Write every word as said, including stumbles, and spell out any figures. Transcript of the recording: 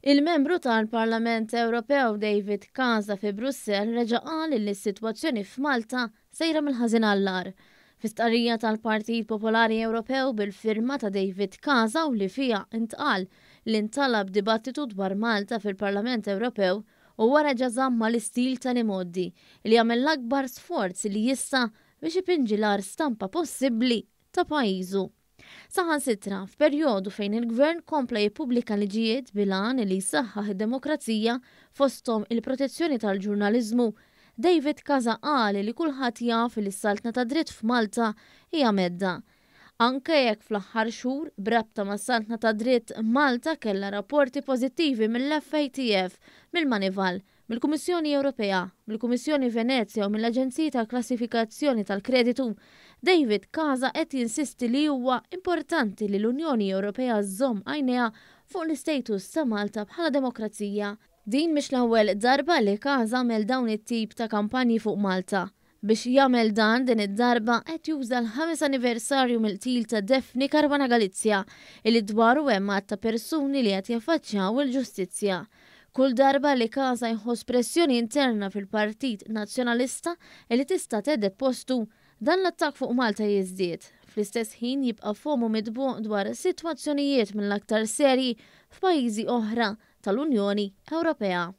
Il-membru tal-Parlament Ewropew David Casa fi Brussell reġa' qal li s-sitwazzjoni f'Malta sejra mill-ħażin għall-agħar. Fi stqarrija tal-Partit Popolari Ewropew bil-firma ta' David Casa u li fiha intqal li ntalab dibattitu dwar Malta fil-Parlament Ewropew u wara żamm mal-istil tal-imgħoddi li jagħmel l-akbar sforz li jista' biex ipinġi l-agħar stampa possibbli ta' pajjiżu. Saħansitra, f'perjodu fejn il-gvern kompla jippubblika liġijiet bil-għan li jsaħħaħ id-demokrazija, fosthom il-protezzjoni tal-ġurnaliżmu, David Casa qal li kulħadd jaf li s-saltna ta' dritt f'Malta hija mhedda. Anke jekk fl-aħħar xhur b'rabta mas-saltna ta' dritt Malta kellha rapporti pożittivi mill-F A T F, mill-Moneyval, mill-Kummissjoni Ewropea, mill-Kummissjoni Venezja u mill-Aġenziji ta' Klassifikazzjoni tal-Kreditu, David Casa qed jinsisti li huwa importanti li l-Unjoni Ewropea żżomm għajnejha fuq l-istatus ta' Malta bħala demokrazija. Din mhix l-ewwel darba li Casa għamel dawn it-tip ta' kampanji fuq Malta. Biex jagħmel dan, din id-darba qed juża l-ħames anniversarju mill-qtil ta' Daphne Caruana Galizia, illi dwaru hemm ta' persuni li qed jaffaċċjaw il-ġustizzja. Kull darba li Casa jħoss pressjoni interna fil-Partit Nazzjonalista li tista' thedded postu, dan l-attak fuq Malta jiżdied. Fl-istess ħin jibqa' fomu mitbuq dwar sitwazzjonijiet mill-aktar serji f'pajjiżi oħra tal-Unjoni Ewropea.